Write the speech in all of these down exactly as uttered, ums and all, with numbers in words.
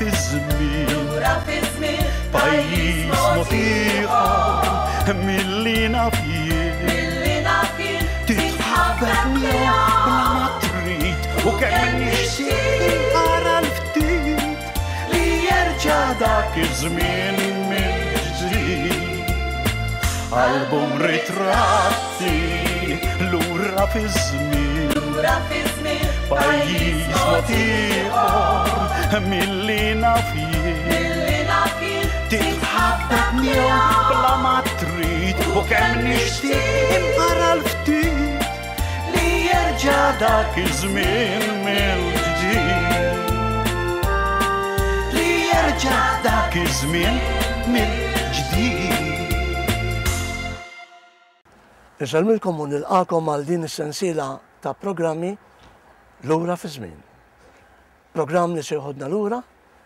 fi żmien, lura fi żmien, pajjiż mod ieħor milli naf jien, milli naf jien, titħabbeb miegħu bla ma trid u kemm nixtieq ara l-ftit li jerġa' dak iż-żmien mill-ġdid. Album ritratti lura fi żmien, lura fi żmien, pajjiż mod ieħor milli naf jien, milli naf jien, titħabbeb miegħu bla ma trid u kemm nixtieq imqara l-ftit li jerġa' dak iż-żmien mill-ġdid. Li jerġa' dak iż-żmien mill-ġdid. Insellmilkom u nilqakom għal din is-sensiela ta' programmi Lura fi żmien. Programm li se joħodna lura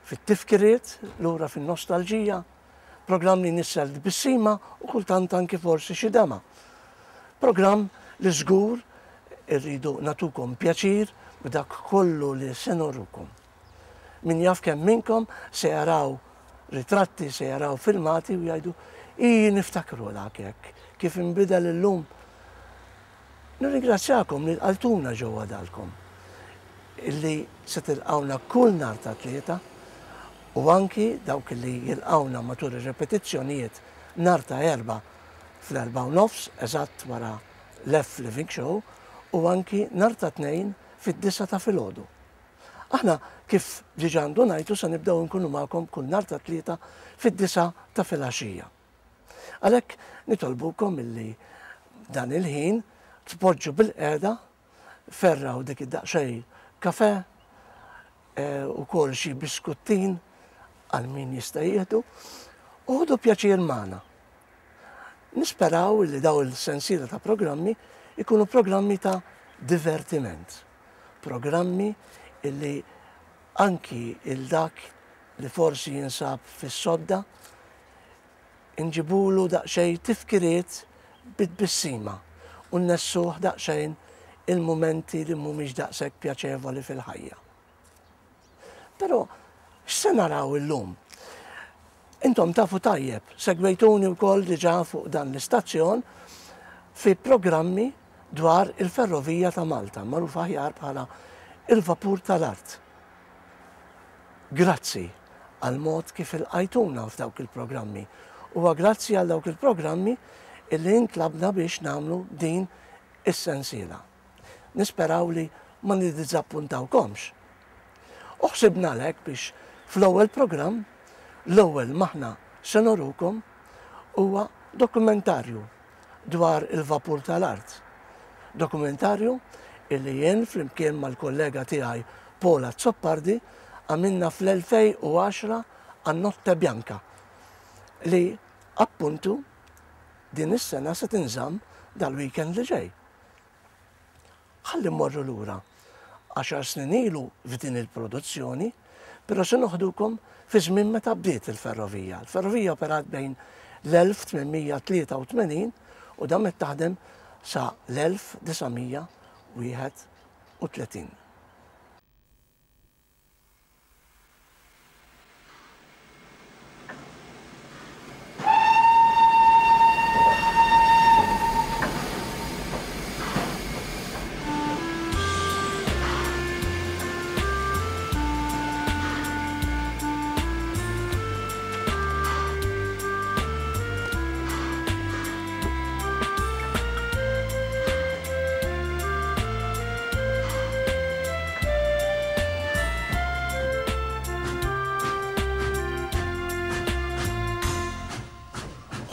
fit-tifkiriet, lura fin-nostalġija, programm li nissel tbissima u kultant anki forsi xi dema. Programm li żgur irridu natukom pjaċir b'dak kollu li se norukom. Min jaf kemm minnkom se jaraw ritratti, se jaraw filmati u jgħidu i niftakru dak hekk, kif inbidel illum. Nirringrazzjakom li lqaltuna ġewwa dalkom, illi se tilqawna kull nhar ta' tlieta u anki dawk li jilqawna matul ir-repetizzjonijiet nhar ta' erba' fl-erba' u nofs, eżatt wara l-F Living Show, u anki nhar ta' tnejn fid-disa ta' filgħodu. Aħna kif diġà ndunajtu se nibdew nkunu magħkom kull nhar ta' tlieta fid-disa ta' filgħaxija. Għalhekk nitolbukom illi dan il-ħin tpoġġu bil-qiegħda, ferraw dik id-daqsxejn kafe, u kol xi biskuttin għal min jista' jieħdu, u ħudu pjaċir magħna. Nisperaw li daw il-sensiela ta' programmi ikunu programmi ta' divertiment, programmi illi anki il-dak li forsi jinsab fis-sodda inġibulu daqsxejn tifkiriet bit-tbissima u nnessuh daqsxejn il-mumenti li mhumiex daqshekk pjaċevoli fil-ħajja. Però x'se naraw illum? Intom tafu tajjeb, segwejtuni wkoll diġà fuq dan l-istazzjon fi programmi dwar il-ferrovija ta' Malta, magħruf aħjar bħala il-vapur tal-art. Grazzi għal mod kif ilqajtuna f'dawk il-programmi. Huwa grazzi għal dawk il-programmi illi intlabna biex nagħmlu din is-sensiela. Nisperaw li ma niddiżappuntawkomx. U ħsibna għalhekk biex fl-ewwel programm, l-ewwel maħna se norukom huwa dokumentarju dwar il-vapur tal-art. Dokumentarju illi jien flimkien mal-kollega tiegħi Paul Azzopardi għamilna fl-elfejn u għaxra għan-Notte Bianca li appuntu din is-sena se tinżamm dal-weekend li ġej. Ħalli mmorru lura għaxar snin ilu f'din il-produzzjoni, però se noħdukom fi żmien meta bdiet il-ferrovija. Il-ferrovija operat bejn l-elf tmien mija tlieta u tmenin u damet taħdem sa l-elf disa' mija wieħed u tletin.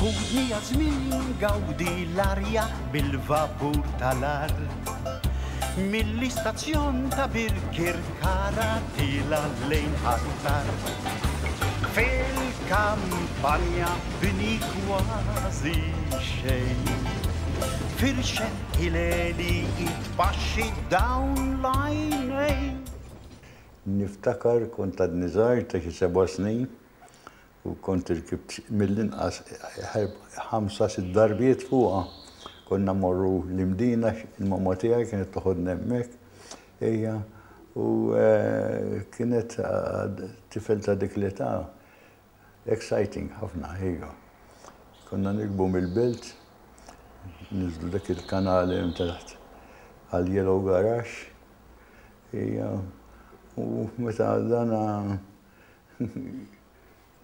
Ħudni għażmin gawdi l-arja bil-vapur tal-art. Mill-istazzjon ta' Birkirkara tila lejn Ħ'Attard. Fil-kampanja bini kważi xejn. Firxet ileli itpaxxi dawn l-għajnejn. Niftakar kont għadni żgħir ta' xi seba' snin u kont irkibt mill-inqas ħamsa sitt darbiet fuqha. Konna morru l-Imdina, il-mamma tiegħi kienet toħodna hemmhekk, ejja, U eh, kienet eh, tifel ta' dik l-età exciting ħafna, ejja. Konna nirkbu mill-Belt, ninżlu dak il-kanal hemm taħt għal Yellow Garage. Ija, u meta dana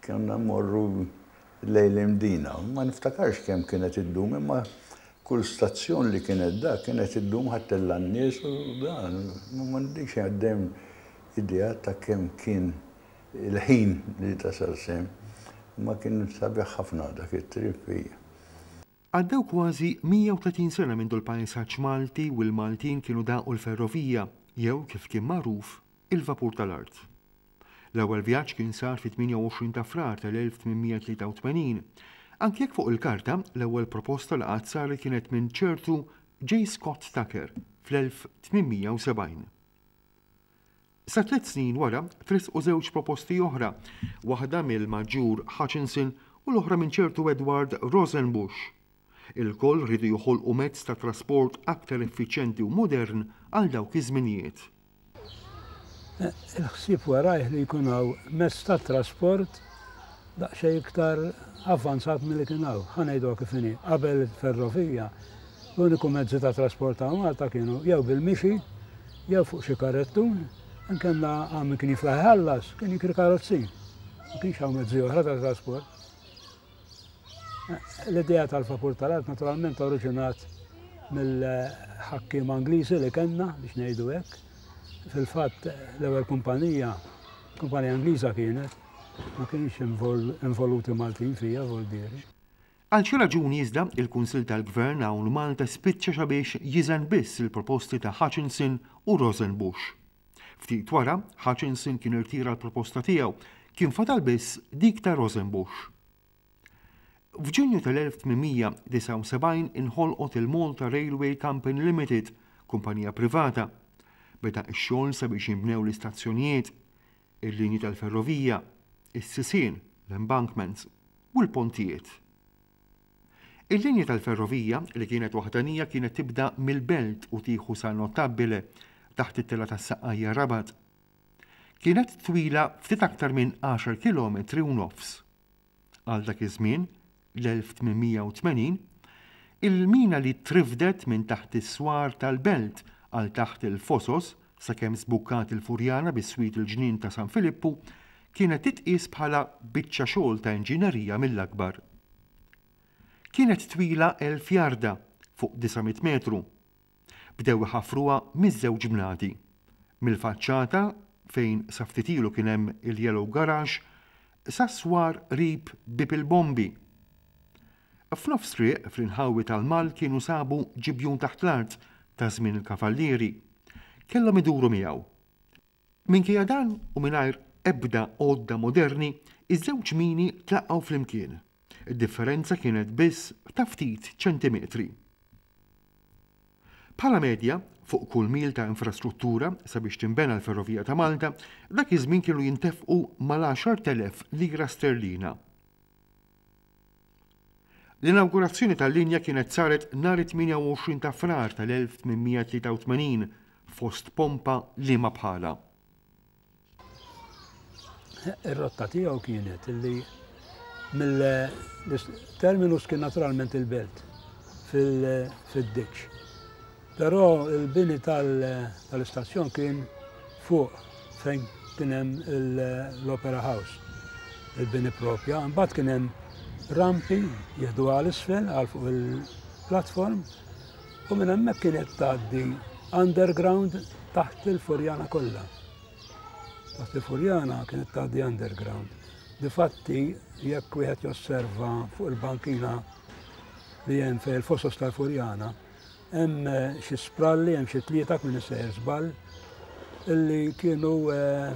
konna morru lejn l-Imdina. Ma niftakarx kemm kienet iddum, imma kull stazzjon li kienet da kienet iddum ħa ttella' n-nies u dan. Ma m'għandix għaddem idea ta' kemm kien il-ħin li tasal s'hemm. Ma kien sabiħ ħafna dak it-trip hija. Għaddew kważi mija u tletin sena minn l-pajsaġġ Malti u l-Maltin kienu daqu l-ferrovija, jew kif kien magħruf, il-vapur tal-art. L-ewwel vjaġġ kien sar fit-tmienja u għoxrin ta' Frar tal-elf tmien mija tlieta u tmenin, anke jekk fuq il-karta l-ewwel proposta li qatt saret kienet minn ċertu J. Scott Tucker fl-elf tmien mija u sebgħin. Sa tliet snin wara tressqu żewġ proposti oħra, waħda mill-Maġġur Hutchinson u l-oħra minn ċertu Edward Rosenbusch. Ilkoll riedu joħolqu mezz ta' trasport aktar effiċjenti u modern għal dawk iż-żminijiet. Il-ħsieb warajh li jkun hawn mezz ta' trasport daqsxejn iktar avvanzat milli kien hawn. Ħa ngħidu kif inhi, qabel il-ferrovija, l-uniku mezzi ta' trasport ta' Malta kienu jew bil-mixi, jew fuq xi karettun, inkella għal min kien jiflaħ iħallas, kien jikri karozzin. Ma kienx hawn mezzi oħra ta' trasport. L-idea tal-vapur tal-art naturalment oriġinat mill-ħakkim Angliżi li kellna, biex ngħidu hekk. Fil-fatt l-ewwel kumpanija, kumpanija Angliża kienet, ma kienx involuti Maltin fija, voldieri. Għal xi raġuni iżda il-Kunsill tal-Gvern hawn Malta spiċċa sabiex jiżen biss il-proposti ta' Hutchinson u Rosenbusch. Ftit wara, Hutchinson kien irtira l-proposta tiegħu, kien fadal biss dik ta' Rosenbusch. F'Ġunju tal-elf tmien mija disgħa u sebgħin inħolqot il-Malta Railway Company Limited, kumpanija privata. Beda x-xogħol sabiex jinbnew l-istazzjonijiet, il-linji tal-ferrovija, is-sisien, l-embankments u l-pontijiet. Il-linja tal-ferrovija li kienet waħdanija kienet tibda mill-Belt u tieħu sa Notabile taħt it-tela tas-Saqqajja Rabat. Kienet twila ftit aktar minn għaxar kilometri u nofs. Għal dak iż-żmien, l-elf tmien mija u tmenin, il-mina li trifdet minn taħt is-swar tal-Belt għal taħt il-Fosos sakemm sbukkat il-Furjana biswit il-ġnien ta' San Filippu kienet titqis bħala biċċa xogħol ta' inġinerija mill-akbar. Kienet twila elf jarda fuq disa' mitt metru. Bdew iħafruha miż-żewġ bnadi. Mill-faċċata fejn sa ftit ilu kien hemm il-Yellow Garage sa swar qrib Bieb il-Bombi. F'nofs triq fl-inħawi tal-Mall kienu sabu ġibjun taħt l-art ta' żmien il-kavallieri. Kellhom iduru miegħu. Minkejja dan u mingħajr ebda għodda moderni, iż-żewġ mini tlaqgħu flimkien. Id-differenza kienet biss ta' ftit ċentimetri. Bħala medja, fuq kull mil ta' infrastruttura sabiex tinbena l-Ferrovija ta' Malta, dak iż-żmien kienu jintefqu mal-għaxart elef lira sterlina. L-inaugurazzjoni tal-linja kienet saret nhar it-tmienja u għoxrin ta' Frar tal-elf tmien mija tlieta u tmenin fost pompa li ma bħala. Ir-rotta tiegħu kienet illi mill-terminus kien naturalment il-Belt fil-ditch. Però il-bini tal-istazzjon kien fuq fejn kien hemm l-Opera House, il-bini propja. Mbagħad kien hemm rampi jieħdu għal isfel għal fuq il-platform u minn hemmhekk kienet tgħaddi underground taħt il-Furjana kollha. Taħt il-Furjana kienet tgħaddi underground. Difatti, jekk wieħed josserva fuq il-bankina li hemm fejn il-fosos tal-Furjana, hemm eh, xi spralli, hemm xi tlieta minn sejjer żball, illi kienu eh,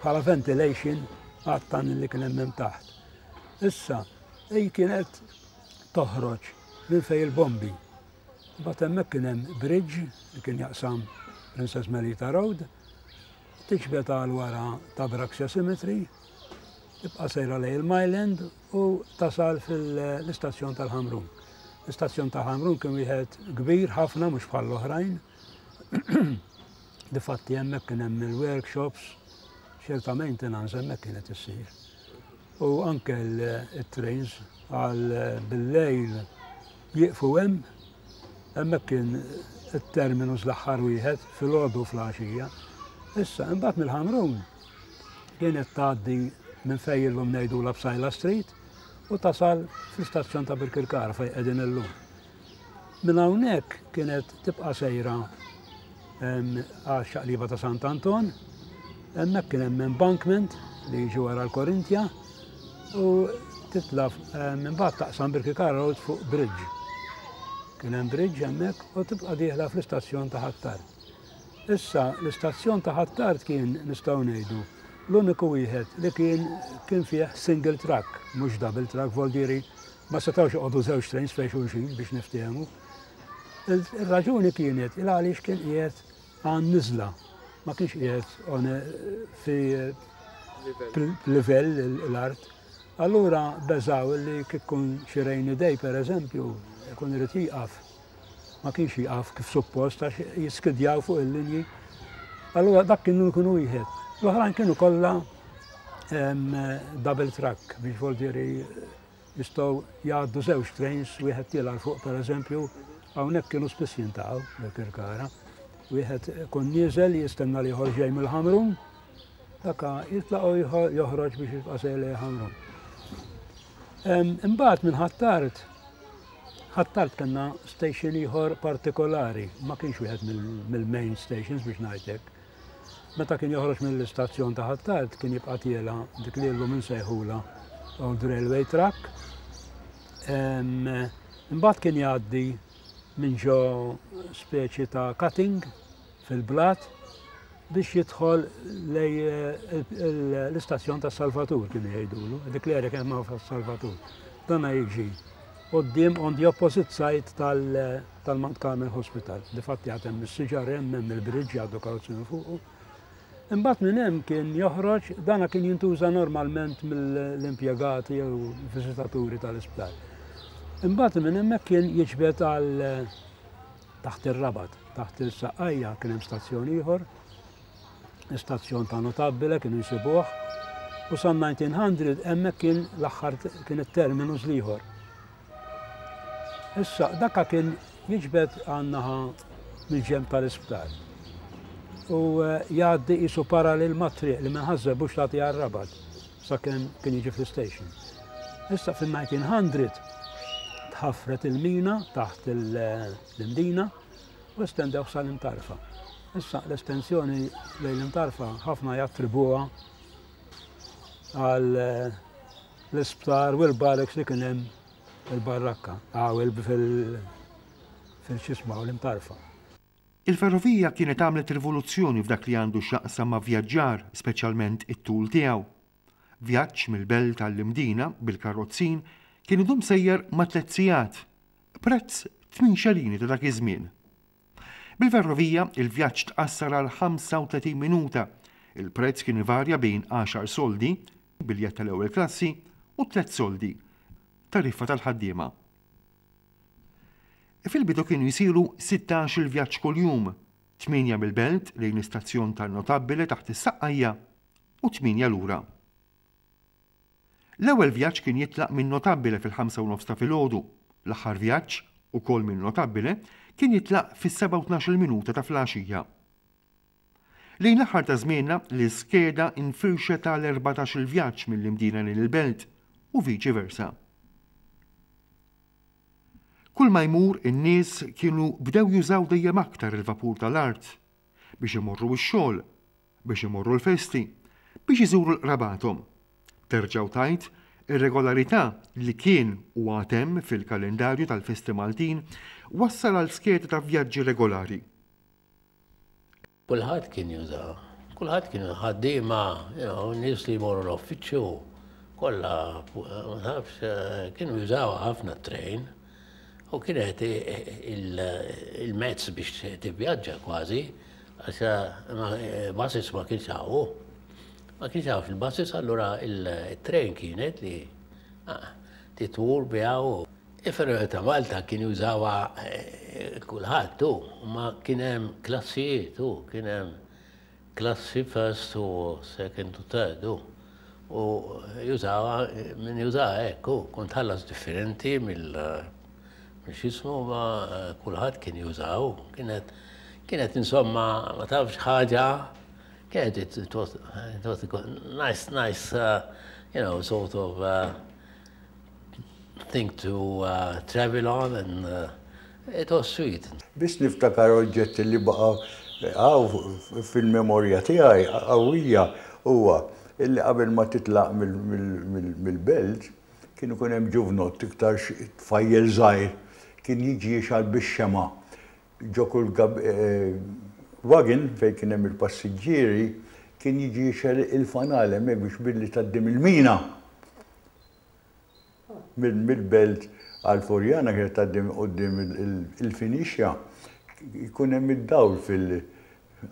bħala ventilation għat-tan li kien hemm taħt. Issa, ej kienet toħroġ minn fejn il-bombi. Mbagħad hemmhekk kien hemm bridge li kien jaqsam Princess Melita Road, tiġbed għal wara ta' Braxia Cemetery, tibqa' sejra lejn il-Mile End u tasal fil-istazzjon tal-Ħamrun. L-istazzjon tal-Ħamrun kien wieħed kbir ħafna, mhux bħal oħrajn. Difatti hemmhekk kien hemm il-workshops, ċerta maintenance hemmhekk kienet issir. U anke il-trains għal bil-lejl jieqfu hemm, hemmhekk kien it-terminus l-aħħar wieħed filgħodu filgħaxija. Issa, imbagħad mill-Ħamrun kienet tgħaddi minn fejn illum ngħidu Psaila Street u tasal fl-istazzjon ta' Birkirkara fejn qegħdin illum. Minn hawnhekk kienet tibqa' sejra għal xaqliba ta' Sant Anton, hemmhekk kien hemm embankment li jiġi wara l-Korintja u titla minn bagħad taqsam Birkirkara Road fuq bridge. Kien hemm bridge hemmhekk u tibqa' dieħla fl-istazzjon ta' Ħ'Attard. Issa l-istazzjon ta' Ħ'Attard kien nistgħu ngħidu l-uniku wieħed li kien kien fih single track, mhux double track, voldiri ma setgħux joqogħdu żewġ trains fejn xulxin biex niftehmu. Il-raġuni kienet il għaliex kien qiegħed għan niżla, ma kienx qiegħed fi livell l-art. Allura beżaw li kikun xi rainy day per eżempju, ikun irid jieqaf. Ma kienx jieqaf kif suppost għax jiskidjaw fuq il-linji. Allura dak kienu jkunu wieħed. L-oħrajn kienu kollha double track biex voldiri jistgħu jgħaddu żewġ trains, wieħed tiela' fuq per eżempju, hawnhekk kienu spiss jintaqgħu bil-Kirkara. Wieħed kun nieżel jistenna li ieħor ġej mill-Ħamrun, daka jitlaq u joħroġ biex jibqa' sejjer lejn Ħamrun. Imbagħad minn Ħ'Attard, Ħ'Attard kellna station ieħor partikolari, ma kienx wieħed mill-main stations biex ngħidlek. Meta kien joħroġ mill-istazzjon ta' Ħ'Attard kien jibqa' tiela dik li llum insejħula Old Railway Track. Imbagħad kien jgħaddi minn ġo speċi ta' cutting fil-blat biex jidħol lej l-istazzjon ta' Salvatur kienu jgħidulu, dik li għerek hemm Salvatur. Dana jiġi quddiem on the opposite side tal-Mount Carmel Hospital. Difatti għad hemm is-siġar hemm hemm il-bridge jgħaddu karozzi minn fuqu. Imbagħad minn hemm kien joħroġ, dana kien jintuża normalment mill-impjegati jew viżitaturi tal-isptar. Imbagħad minn hemmhekk kien jiġbed għal taħt ir-Rabat, taħt il-Saqqajja kien hemm stazzjon ieħor, istazzjon ta' Notabile kienu jsibuh, u sa nineteen hundred hemmhekk kien l-aħħar kien it-terminus l-ieħor. Issa dakka kien jiġbed għan-naħa mill-ġenb tal-isptar. U jgħaddi qisu parallel mat-triq li minn Ħaż-Żebbuġ tagħti għar-Rabat sakemm kien jiġi fl-station. Issa fin-nineteen hundred tħaffret il-mina taħt l-Imdina u estendew sal-Imtarfa. Issa l-estensjoni lejn l-Imtarfa ħafna jattribuha għal l-isptar u l-barracks li kien hemm il-barrakka, għaw fil-xisma u l-Imtarfa. Il-ferrovija kienet għamlet rivoluzzjoni f'dak li għandu x'jaqsam ma' vjaġġar, speċjalment it-tul tiegħu. Vjaġġ mill-belt għall-Imdina bil-karozzin kien idum sejjer ma' tliet sigħat, prezz tmien xelini ta' dak iż-żmien. Bil-ferrovija il-vjaġġ tqassar għal ħamsa u tletin minuta. Il-prezz kien ivarja bejn għaxar soldi, biljett tal-ewwel klassi, u tliet soldi, tariffa tal-ħaddiema. Fil-bidu kienu jsiru sittax il-vjaġġ kuljum, tmienja mill-belt lejn l-istazzjon tan-Notabile taħt is-Saqqajja u tmienja lura. L-ewwel vjaġġ kien jitlaq minn Notabile fil-ħamsa u nofs ta' filgħodu, l-aħħar vjaġġ, ukoll minn Notabile, kien jitlaq fis-sebgħa u tnax-il minuta ta' filgħaxija. Lejn l-aħħar ta' żmienna l-iskeda infirxet għal erbatax il-vjaġġ mill-Imdina lejn il-belt u viċi versa. Kull ma jmur in-nies kienu bdew jużaw dejjem aktar il-vapur tal-art biex imorru x-xogħol, biex imorru l-festi, biex iżuru l-qrabathom. Terġgħu tajt ir-regolarità li kien u għad hemm fil-kalendarju tal-festi Maltin wassal għal skeda ta' vjaġġi regolari. Kulħadd kien juża, kulħadd kien ħaddiema, you know, nies li jmorru l-uffiċċju, kollha, ma nafx, kienu jużaw ħafna t-trejn. U kienet il-mezz biex tivvjaġġa kważi, għax buses ma kienx hawn. Ma kienx hawn fil-buses, allura il-trejn kienet li titwur biha u il-ferrovija ta' Malta kien jużawha Kulħadd tu, ma kien hemm klassijiet u kien hemm klassi first u second u third u. U jużawa, min jużawa hekk, u kont tħallas differenti mill x'jismu, ma kulħadd kien jużaw. Kienet kienet insomma, ma tafx ħaġa, kienet it was, it was a nice, nice, uh, you know, sort of uh, thing to uh, travel on and uh, it was sweet. Biss niftakar oġġetti li baqa' għaw fil-memorja tiegħi qawwija huwa illi qabel ma titlaq mill-belt kienu kun hemm ġuvnott iktar tfajjel żgħir kien jiġi jixgħel bix-xema' ġo kull wagon fejn kien hemm il-passiġġieri, kien jiġi jixgħel il-fanal hemmhekk biex billi tgħaddi mill-mina mill-belt għal Furjana, kienet tgħaddi quddiem il-Finixja, jkun hemm id-dawl fil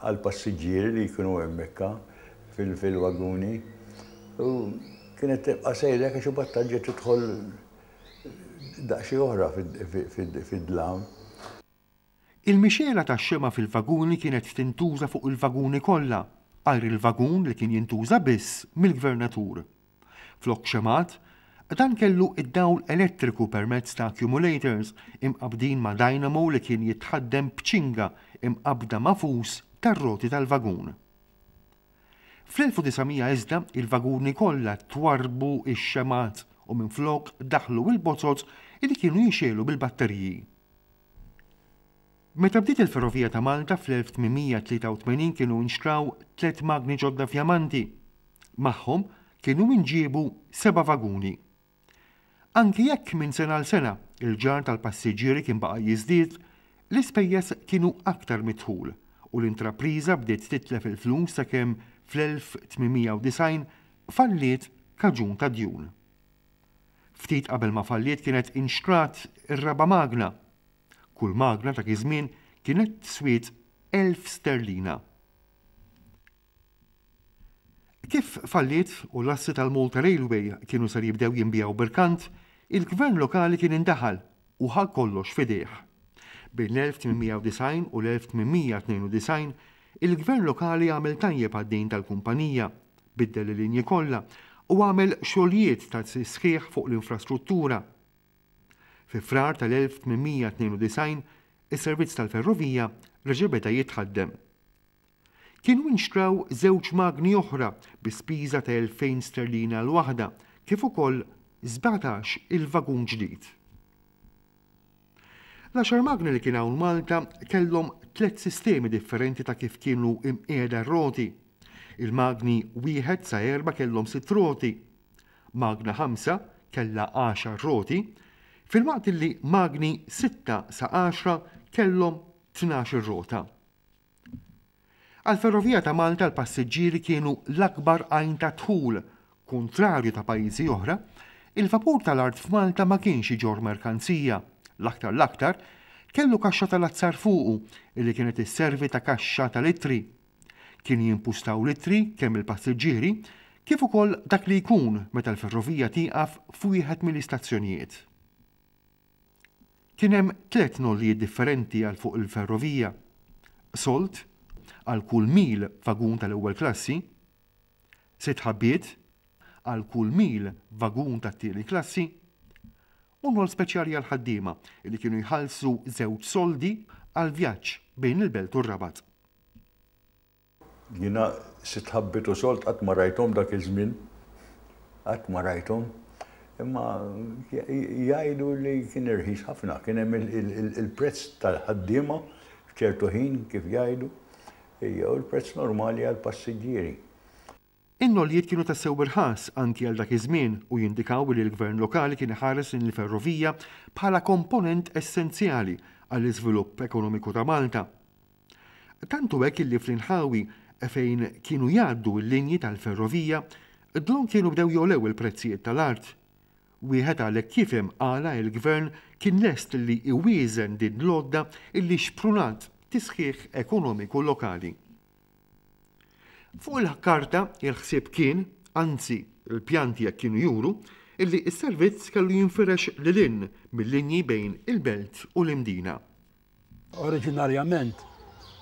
għal-passiġġieri li jkunu hemmhekk fil-waguni. U kienet tibqa' sejra għax imbagħad tarġa' tidħol daqsxejn oħra fid-dlam. Il-mixgħela tax-xema' fil-vaguni kienet tintuża fuq il-vaguni kollha, għajr il-vagun li kien jintuża biss mill-gvernatur. Flok xemgħat, dan kellu id-dawl elettriku permezz ta' accumulators imqabdin ma' dynamo li kien jitħaddem b'ċinga imqabda ma' fus tar-roti tal-vagun. Fl-elf u disa' mija iżda il-vaguni kollha twarbu ix-xemgħat u minflok daħlu il-bozoz li kienu jixegħlu bil-batteriji. Meta bdiet il-Ferrovija ta' Malta fl-elf tmien mija tlieta u tmenin kienu nxtraw tliet magni ġodda fjamanti. Magħhom kienu inġiebu seba' vaguni. Anki jekk minn sena għal sena il-ġarr tal-passiġġieri kien baqa' jiżdied, l-ispejjeż kienu aktar mid-dħul u l-intrapriża bdiet titlef il-flus sakemm fl-elf tmien mija u disgħin falliet kaġun ta' djun. Ftit qabel ma falliet kienet inxtrat ir-raba' magna. Kull magna ta' iż-żmien kienet swiet elf sterlina. Kif falliet u l-assi tal-Malta Railway kienu sar jibdew jinbiegħu b'irkant, il-gvern lokali kien indaħal u ħa kollox f'idejh. Bejn l-elf tmien mija u disgħin u l-elf tmien mija tnejn u disgħin il-gvern lokali għamel tajjeb għad-dejn tal-kumpanija, biddel il-linji kollha u għamel xogħlijiet ta' sħiħ fuq l-infrastruttura. Fi Frar tal-elf tmien mija tnejn u disgħin is-servizz tal-ferrovija reġa' beda jitħaddem. Kienu inxtraw żewġ magni oħra bi spiża ta' elfejn sterlina l-waħda, kif ukoll sbatax il-vagun ġdid. L-għaxar magni li kien hawn Malta kellhom tliet sistemi differenti ta' kif kienu imqiegħda r-roti. Il-magni wieħed sa erba' kellhom sitt roti, magna ħamsa kellha għaxar roti, filwaqt li magni sitta sa għaxra kellhom tnax-il rota. Għal-Ferrovija ta' Malta l-passiġġieri kienu l-akbar għajn ta' dħul, kontrarju ta' pajjiżi oħra, il-vapur tal-art f'Malta ma kienx iġorr merkanzija. L-aktar l-aktar kellu kaxxa tal-azzar fuqu illi kienet isservi ta' kaxxa tal-ittri. Kien jimpustaw l-ittri kemm il-passiġġieri kif ukoll dak li jkun meta l-ferrovija tieqaf f'wieħed mill-istazzjonijiet. Kien hemm tliet nollijiet differenti għal fuq il-ferrovija. Sold għal kull mil vagun tal-ewwel klassi, sitt ħabbiet għal kull mil vagun tat-tieni klassi, u nol speċjali għal ħaddiema li kienu jħallsu żewġ soldi għal vjaġġ bejn il-belt u r-Rabat. Jiena sitt ħabbiet u sold qatt ma rajthom dak iż-żmien, qatt ma rajthom. Imma jgħidu li kien irħis ħafna, kien hemm il-prezz tal-ħaddiema f'ċertu ħin kif jgħidu, jew il-prezz normali għall-passiġġieri. In-nollijiet kienu tassew irħas anki għal dak iż-żmien u jindikaw li l-gvern lokali kien iħares lejn il-ferrovija bħala komponent essenzjali għall-iżvilupp ekonomiku ta' Malta. Tantu hekk illi fl-inħawi fejn kienu jgħaddu l-linji tal-ferrovija, dlonk kienu bdew jogħlew il-prezzijiet tal-art. Wieħed għalhekk jifhem għala il-gvern kien lest li iwieżen din l-għodda illi xprunat tisħiħ ekonomiku lokali. Fuq il-karta il-ħsieb kien, anzi il-pjanti jekk kienu juru, illi s-servizz kellu jinfirex lil hinn mill-linji bejn il-belt u l-Imdina. Oriġinarjament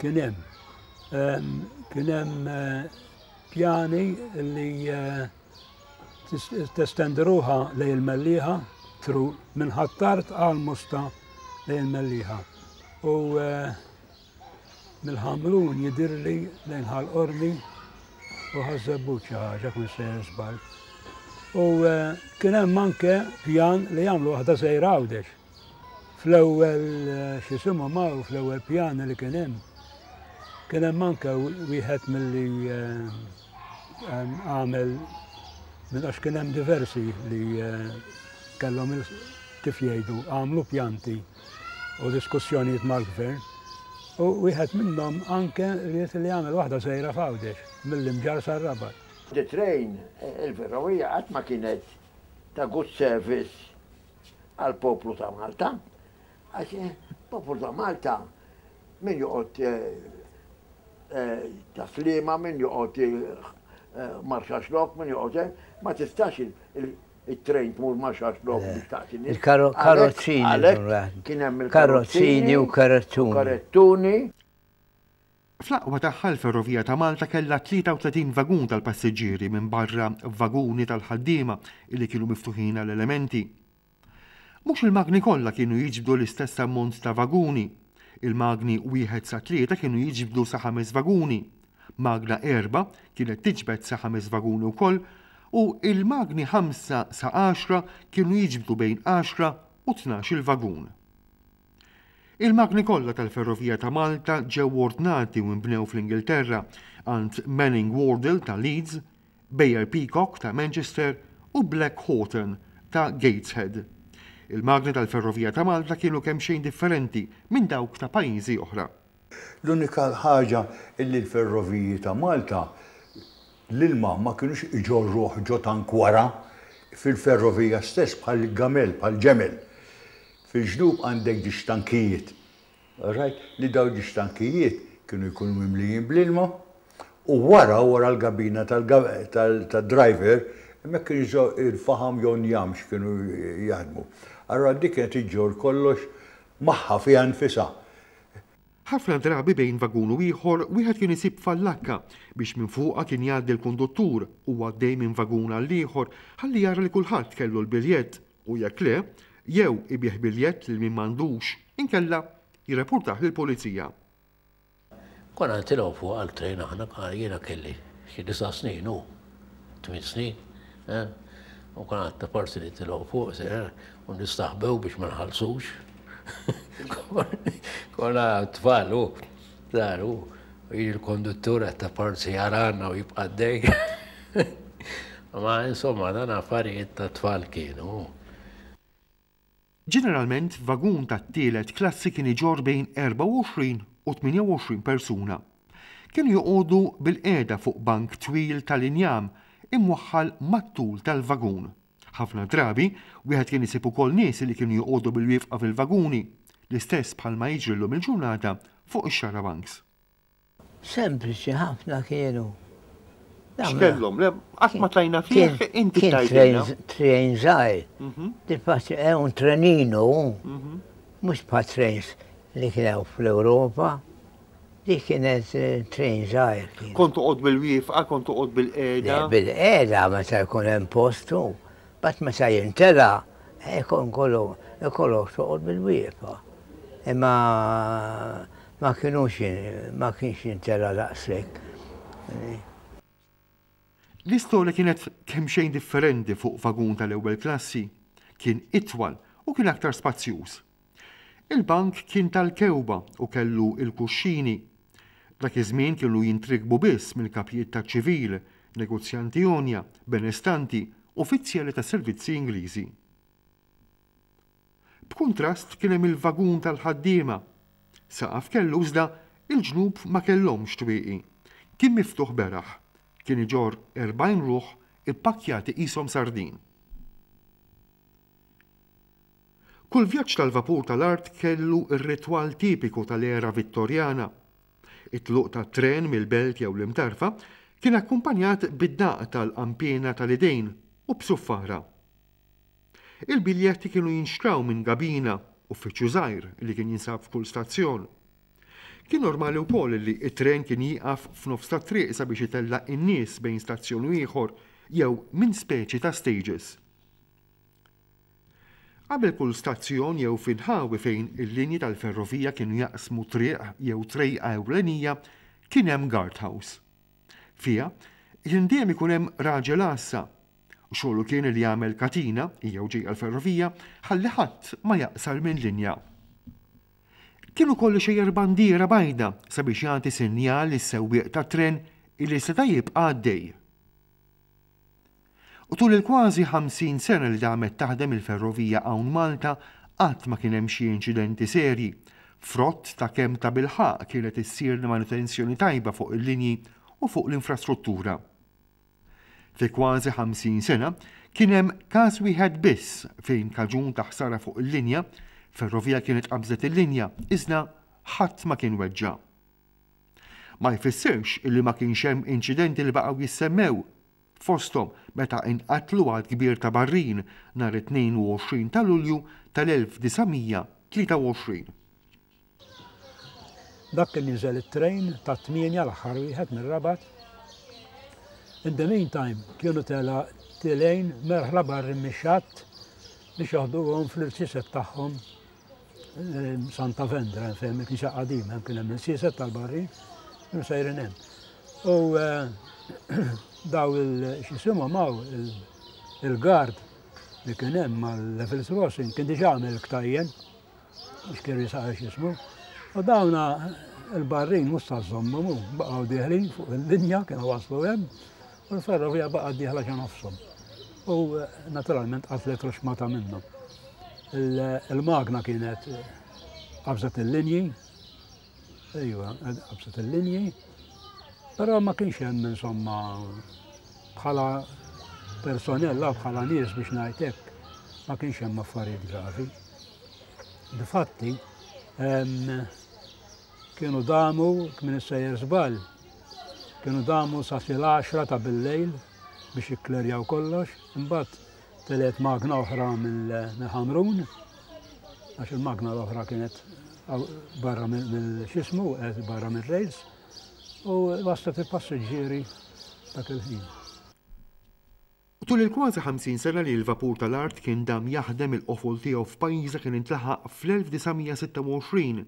kien hemm kien hemm pjani li testendi ruħha lejn il-Mellieħa through minn Ħ'Attard għal Mosta lejn il-Mellieħa. U mill-Ħamrun jidirli lejn Ħal Qormi u Ħaż-Żebbuġ xi ħaġa kun sejjer żball. U kien hemm anke pjan li jagħmlu waħda sejra Għawdex. Fl-ewwel x'isimhom ma fl-ewwel pjan li kien hemm kien hemm anke wieħed milli għamel minn għax kien hemm diversi li kellhom kif jgħidu għamlu pjanti u diskussjonijiet mal-gvern. U wieħed minnhom anke ried li jagħmel waħda sejra f'Għawdex mill-Imġarr sar-Rabat. The train, il-ferrovija qatt ma kienet ta' good service għal poplu ta' Malta. Għax poplu ta' Malta min joqgħod ta' Sliema, min joqgħod Marsaxlokk, min joqgħod ma tistax il-train tmur Marsaxlokk biex taqti nies. Il-karozzini. Għalhekk kien hemm Karozzini u karettuni. Karettuni. Fl-aqwa tagħha l-Ferrovija ta' Malta kellha tlieta u tletin vagun tal-passiġġieri minn barra vaguni tal-ħaddiema li kienu miftuħin għall-elementi. Mhux il-magni kollha kienu jiġbdu l-istess ammont ta' vaguni. Il-magni wieħed sa tlieta kienu jiġbdu sa ħames vaguni. Magna erba' kienet tiġbed sa ħames vaguni wkoll u il-magni ħamsa sa għaxra kienu jiġbdu bejn għaxra u tnax il-vagun. Il-magni kollha tal-Ferrovija ta' Malta ġew ordnati u nbnew fl-Ingilterra għand Manning Wardle ta' Leeds, Beyer Peacock ta' Manchester u Black Horton ta' Gateshead. Il-magni tal-Ferrovija ta' Malta kienu kemm xejn differenti minn dawk ta' pajjiżi oħra. L-unika ħaġa illi l-ferroviji ta' Malta l-ilma ma kienux iġorruh ġo tank wara fil-ferrovija stess bħal gamel, bħal ġemel. Fil-ġnub għandek ġiex tankijiet. Right? Li daw ġiex tankijiet kienu jkunu mimlijin bl-ilma u wara, wara l-gabina tal-driver, hemmhekk kienu jużaw il-faħam jew njam kienu jaħdmu. Allora dik kienet iġġor kollox magħha fiha nfisha. Ħafna drabi bejn vagun u ieħor wieħed kien isib fallakka biex minn fuqha kien jgħaddi l-konduttur u għaddej minn vagun għal ieħor ħalli jara li kulħadd kellu l-biljett u jekk le, jew ibigħ biljett lil min m'għandux, inkella jirrapportah lill-pulizija. Konna nitilgħu fuq għal-train aħna, jiena kelli xi disa' snin u tmien snin. eh? U konna ta' parti nitilgħu fuq se, u nistaħbew biex ma nħallsux. Konna tfal u dar u jiġi l-konduttur ta' parti jarana u jibqa' għaddej. Ma insomma dan affarijiet ta' tfal kienu. Ġeneralment vagun tat-tielet klassi kien iġorr bejn erbgħa u għoxrin u tmienja u għoxrin persuna. Kienu joqogħdu bil-qiegħda fuq bank twil tal-injam imwaħħal mat-tul tal-vagun. Ħafna drabi wieħed kien isib ukoll nies li kienu joqogħdu bil-wieqfa fil-vaguni, l-istess bħalma jiġri llum il-ġurnata fuq ix-xarabanks. Sempliċi ħafna kienu. X'kellhom? Le, qatt ma tlajna fih, inti Kien tgħidilna. train żgħir. Difatti è un trenino, mhux bħal trains li kienu fl-Ewropa. Dik kienet eh, train żgħir kien. Kont toqgħod bil-wieqfa, kont toqgħod bil-qiegħda. Bil-qiegħda meta jkun hemm postu, bat meta jintela, ikun kollu ikollok toqgħod bil-wieqfa. Imma ma kienux ma kienx jintela daqshekk. L-istorja kienet kemm xejn differenti fuq vagun tal-ewwel klassi. Kien itwal u kien aktar spazjuż. Il-bank kien tal-kewba u kellu il-kuxxini. Dak iż-żmien kienu jintrikbu biss mill-kapijiet ta' ċivil, negozjanti għonja, benestanti, uffiċjali ta' servizzi Ingliżi. B'kuntrast kien hemm il-vagun tal-ħaddiema. Saqaf kellu iżda il-ġnub ma kellhomx twieqi. Kien miftuħ beraħ. Kien iġorr erbgħin ruħ ippakkjati qishom sardin. Kull vjaġġ tal-vapur tal-art kellu ir-ritwal tipiku tal-era Vittorjana. It-tluq tat-tren mill-belt jew l-Imtarfa kien akkumpanjat bid-daq tal-qanpiena tal-idejn u b'suffara. Il-biljetti kienu jinxtraw minn gabina, uffiċċju żgħir li kien jinsab f'kull stazzjon. Kien normali wkoll li t-tren kien jieqaf f'nofs tat-triq sabiex itella' n-nies bejn stazzjon u ieħor jew minn speċi ta' stages. Qabel kull stazzjon jew f'inħawi fejn il-linji tal-ferrovija kienu jaqsmu triq jew trejqa ewlenija kien hemm guardhouse. Fiha kien dejjem ikun hemm raġel għassa u xogħlu kien li jagħmel katina jew ġejja l-ferrovija ħalli ħadd ma jaqsar minn linja. Kien ukoll ixejjer bandiera bajda sabiex jagħti sinjal lis-sewwieq tat-tren illi seta' jibqa' għaddej. U tul il-kważi ħamsin sena li damet taħdem il-ferrovija hawn Malta qatt ma kien hemm xi inċidenti serji, frott ta' kemm ta' bilħaqq kienet issir manutenzjoni tajba fuq il-linji u fuq l-infrastruttura. Fi kważi ħamsin sena kien hemm każ wieħed biss fejn kaġun ta' ħsara fuq il-linja, ferrovija kienet qabżet il-linja, iżda ħadd ma kien weġġa'. Ma jfissirx illi ma kienx hemm inċidenti li baqgħu jissemmew, fosthom meta inqatlu għadd kbir ta' barrin nhar it-tnejn u għoxrin ta' Lulju tal-elf disa' mija tlieta u għoxrin. Dak kien jinżel it-trejn ta' tmienja l-aħħar wieħed mir-Rabat. In the meantime kienu tela tilejn merħla barrin mix-xatt biex joħduhom fl-irsiset tagħhom Santa Vendra, fejn il-knisja qadima, hemm kien hemm il-siset tal-barrin, kienu sejrin hemm. U daw il-xisimhom hawn il-guard li kien hemm mal-Levels Crossing kien diġà għamel ktajjen biex kien jisaq x'ismu. U dawna il-barrin mhux ta' żommhom hu, baqgħu dieħlin fuq il-linja kienu waslu hemm, u l-ferrovija baqgħet dieħla ġo nofshom. U naturalment qatlet ruxmata minnhom. Il-magna kienet qabżet il-linji, ejwa, qabżet il-linji, però ma kienx hemm insomma bħala personella, bħala nies biex ngħid hekk, ma kienx hemm affarijiet gravi. Difatti, kienu damu, minn sejjer żball, kienu damu sa fil-għaxra ta' bil-lejl biex jikklerjaw kollox, imbagħad telet magna oħra mill-Ħamrun, għax il-magna l-oħra kienet barra mill-xismu, barra mill-rails, u waslet il-passiġġieri dak il-ħin. Tul il-kważi ħamsin sena li l-vapur tal-art kien dam jaħdem il-qofol tiegħu f'pajjiża kien intlaħaq fl-elf disa' mija sitta u għoxrin.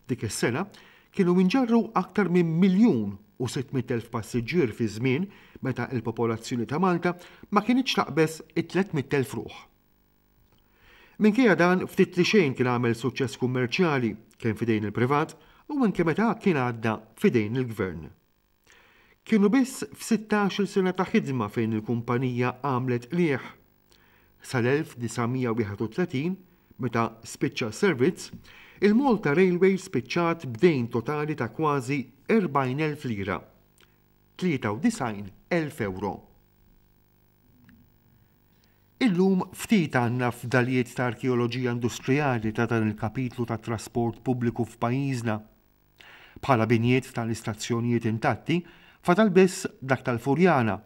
Dik is-sena kienu inġarru aktar minn miljun u sitt mitt elf passiġġier fi żmien meta l-popolazzjoni ta' Malta ma kinitx taqbeż it-tliet mitt elf ruħ. Minkejja dan ftit li xejn kien għamel suċċess kummerċjali kemm f'idejn il-privat u anke meta kien għadda f'idejn il-gvern. Kienu biss f'sittax-il sena ta' ħidma fejn il-kumpanija għamlet qligħ. Sal-elf disa' mija wieħed u tletin, meta spiċċa s-servizz, il-Malta Railway spiċċat b'dejn totali ta' kważi erbgħin elf lira, tlieta u disgħin elf euro. Illum ftit għandna fdalijiet ta' arkeoloġija industrijali ta' dan il-kapitlu ta' trasport pubbliku f'pajjiżna. Bħala binjiet tal-istazzjonijiet intatti, fadal biss dak tal-Furjana,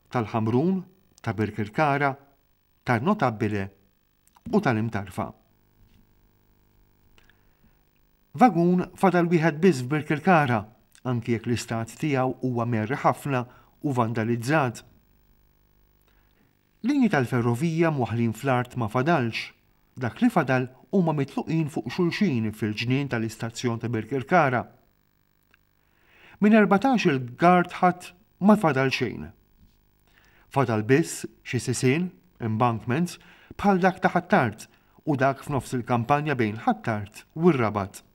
tal-Ħamrun, ta' Birkirkara, tan-Notabbile u tal-Imtarfa. Vagun fadal wieħed biss f'Birkirkara, anki jekk l-istat tiegħu huwa merri ħafna u vandalizzat. Linji tal-ferrovija mwaħħlin fl-art ma fadalx, dak li fadal huma mitluqin fuq xulxin fil-ġnien tal-istazzjon ta' Birkirkara. Minn erbatax il-guard ħadd ma fadal xejn. Fadal biss xi sisien, embankments, bħal dak ta' Ħ'Attard u dak f'nofs il-kampanja bejn Ħ'Attard u r-Rabat.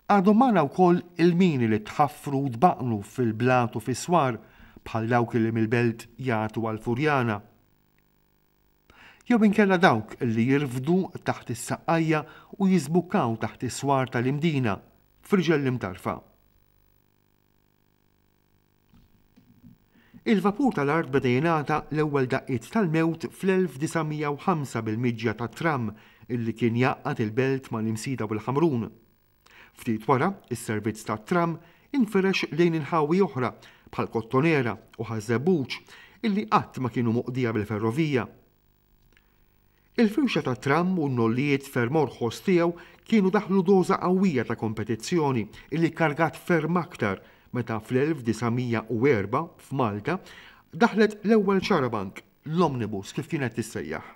Għadhom magħna wkoll il-mini li tħaffru u tbaqnu fil-blat u fis-swar bħal dawk li mill-belt jagħtu għal-Furjana. Jew inkella dawk li jirfdu taħt is-saqqajja u jiżbukkaw taħt is-swar tal-Imdina f'riġel l-Imtarfa. Il-vapur tal-art beda jingħata l-ewwel daqqiet tal-mewt fl-elf disa' mija u ħamsa bil-miġja tat-tram illi kien jgħaqqad il-belt mal-Imsida u l-Ħamrun. Ftit wara, is-servizz tat-tram infirex lejn inħawi oħra bħal Kottonera u Ħaż-Żebbuġ illi qatt ma kienu moqdija bil-ferrovija. Il-firxa tat-tram u n-nollijiet ferm orħos tiegħu kienu daħlu doża qawwija ta' kompetizzjoni illi kargat ferm aktar meta fl-elf disa' mija u erbgħa f'Malta daħlet l-ewwel xarabank, l-omnibus kif kienet tissejjaħ.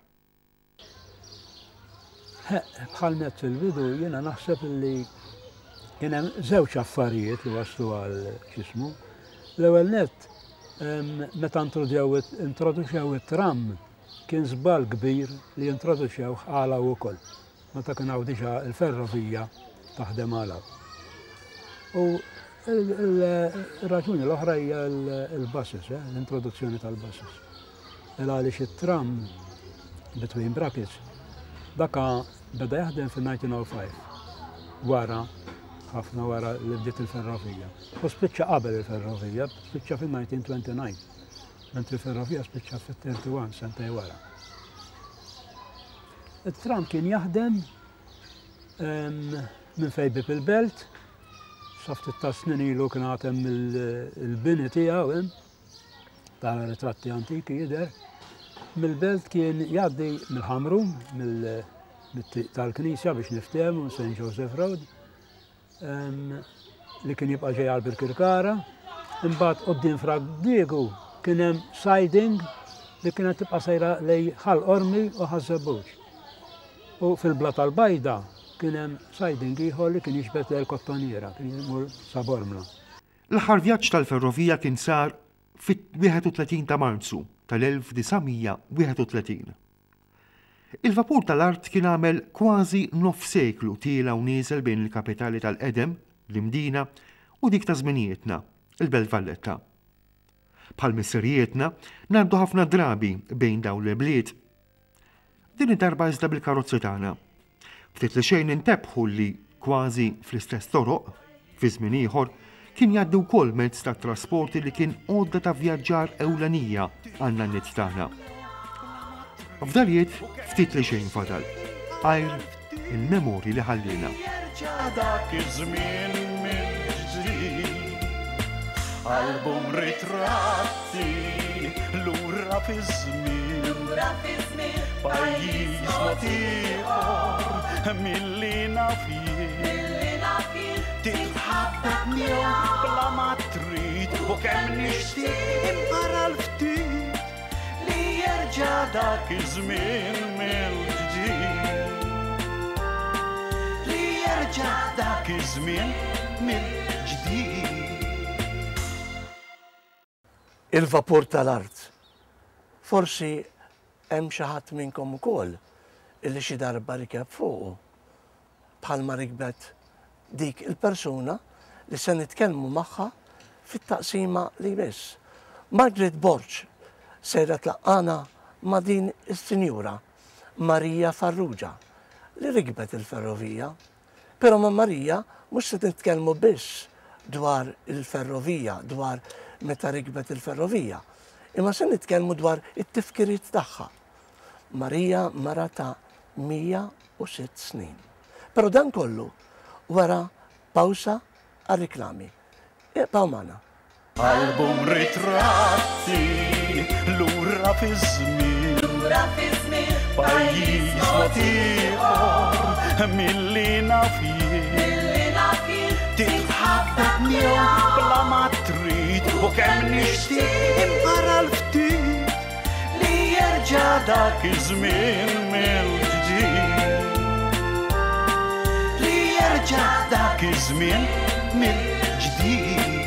Bħal net fil-bidu jiena naħseb li kien hemm żewġ affarijiet li waslu għal x'ismu. L-ewwel net, meta introduċew it-tram kien żball kbir li introduċew għala wkoll. Meta kien hawn diġà l-ferrovija taħdem għala. U il-raġuni l-oħra hija l-buses, l-introduzzjoni tal-buses. Għaliex it-tram between brackets daka beda jaħdem fil-nineteen oh five, wara, ħafna wara li bdiet il-ferrovija. U spiċċa qabel il-ferrovija, spiċċa fil-nineteen twenty-nine, mentri il-ferrovija spiċċa fil-thirty-one, sentej wara. Il-tram kien jaħdem minn fejn bib il-belt, sa ftit ta' snin ilu kien għad hemm il-bini tiegħu hemm, tara ritratti antiki jidher. Mill-belt kien jgħaddi mill-Ħamrun, mill-triq tal-Knisja biex niftehmu, Saint Joseph Road, li kien jibqa' ġej għal Birkirkara. Imbagħad quddiem Fra Diegu kien hemm siding li kienet tibqa' sejra lej Ħal Qormi u Ħaż-Żebbuġ. U fil-Bla tal-Bajda kien hemm siding ieħor li kien jiġbed lejn Kottoniera, kien jmur sa Bormla. L-aħħar vjaġġ tal-ferrovija kien sar fit-wieħed u tletin ta' Marzu tal-elf disa' mija wieħed u tletin. Il-vapur tal-art kien għamel kważi nof seklu tiela u nieżel bejn il-kapitali tal-qedem, l-Imdina, u dik ta' żminijietna, il-Belt Valletta. Bħal missirijietna, ngħaddu ħafna drabi bejn dawn l-bliet. Din id-darba iżda bil-karozzi tagħna. Ftit li xejn intebħu li kważi fl-istess toroq, fi żmien ieħor, kien jgħaddi wkoll mezz ta' trasporti li kien għodda ta' vjaġġar ewlenija għan-nanniet tagħna. F'dalijiet ftit li xejn fadal, għajr il-memorji li ħallina. Dak iż-żmien mill-ġdid, album ritratti lura fiż-żmien, pajjiż mod ieħor milli naf jien. Titħabbeb miegħu bla ma trid u kemm nixtieq imqara l-ftit li jerġa' dak iż-żmien mill-ġdid. Li jerġa' dak iż-żmien mill-ġdid. Il-vapur tal-art. Forsi hemm xi ħadd minnkom ukoll illi xi darba rikeb fuqu bħalma rikbet dik il-persuna li se nitkellmu magħha fit-taqsima li jmiss. Margaret Borg sejra tlaqqana ma' din is-sinjura Marija Farrugia li rikbet il-ferrovija. Però ma' Marija mhux se nitkellmu biss dwar il-ferrovija, dwar meta rikbet il-ferrovija, imma se nitkellmu dwar it-tifkiriet tagħha. Marija mara ta' mija u sitt snin. Però dan kollu wara pawsa għar-reklami. Ibqgħu magħna. Album ritratti lura fiż-żmien, pajjiż mod ieħor milli naf jien. Titħabbeb miegħu bla ma trid u kemm nixtieq imqara l-ftit li jerġa' dak iż-żmien mill-ġdid. Li jerġa' dak iż-żmien mill-ġdid.